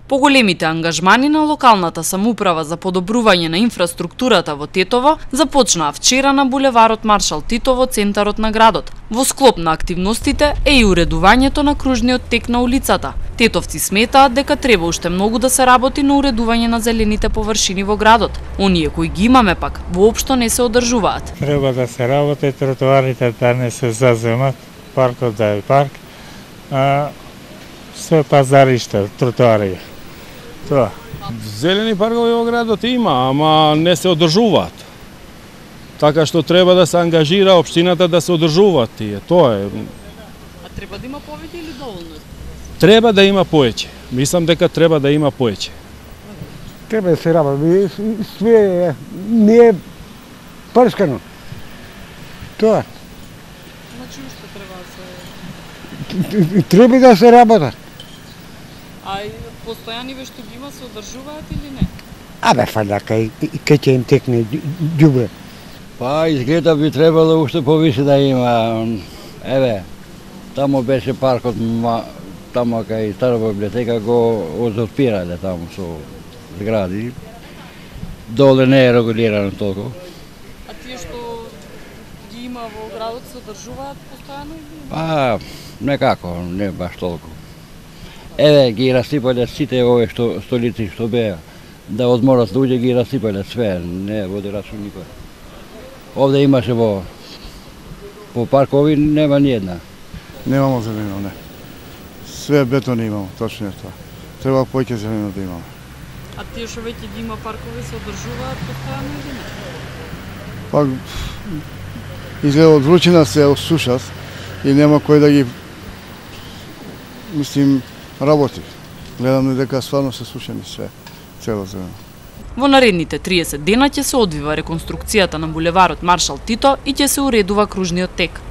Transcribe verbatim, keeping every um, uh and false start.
Поголемите ангажмани на локалната самоуправа за подобрување на инфраструктурата во Тетово започнаа вчера на булеварот Маршал Тито во центарот на градот. Во склоп на активностите е и уредувањето на кружниот тек на улицата. Тетовци сметаат дека треба уште многу да се работи на уредување на зелените површини во градот. Оние кои ги имаме пак воопшто не се одржуваат. Треба да се работи, тротоарите да не се заземат, паркот да е парк, а се пазаришта, тротоари. Тоа. Зелени паркови во градот има, ама не се одржуваат. Така што треба да се ангажира општината да се одржуваат тие. Тоа е. А треба да има повеќе или доволно? Треба да има поеќе. Мислам дека треба да има поеќе. Треба да се работи. Све не е прскано. Тоа. Значи уште треба да се... Треба да се работат. А постојани што ги има се одржуваат или не? Абе, фаля, кај, кај ќе им текне ѓубре. Па, изгледа би требало уште повише да има. Еве, тамо беше паркот, тамо кај стара библиотека го озотпирале тамо со згради. Доле не е регулирано толку. А тие што ги има во градот се одржуваат постојано или не? Па, некако, не баш толку. Еве, ги расипале сите овие што столици што беа. Да одморат луѓе ги расипале све, не води рачун никој. Овде имаше во по паркови нема ни една. Немамо зелено, не. Све бетон имамо, точно е тоа. Треба поќе зелено да имамо. А тие што веќе ги има паркови се одржуваат постојано или не? Па изгледа од вручина се осушат и нема кој да ги мислим работи. Гледам дека стварно се сушени све, цело зелено. Во наредните триесет дена ќе се одвива реконструкцијата на булеварот Маршал Тито и ќе се уредува кружниот тек.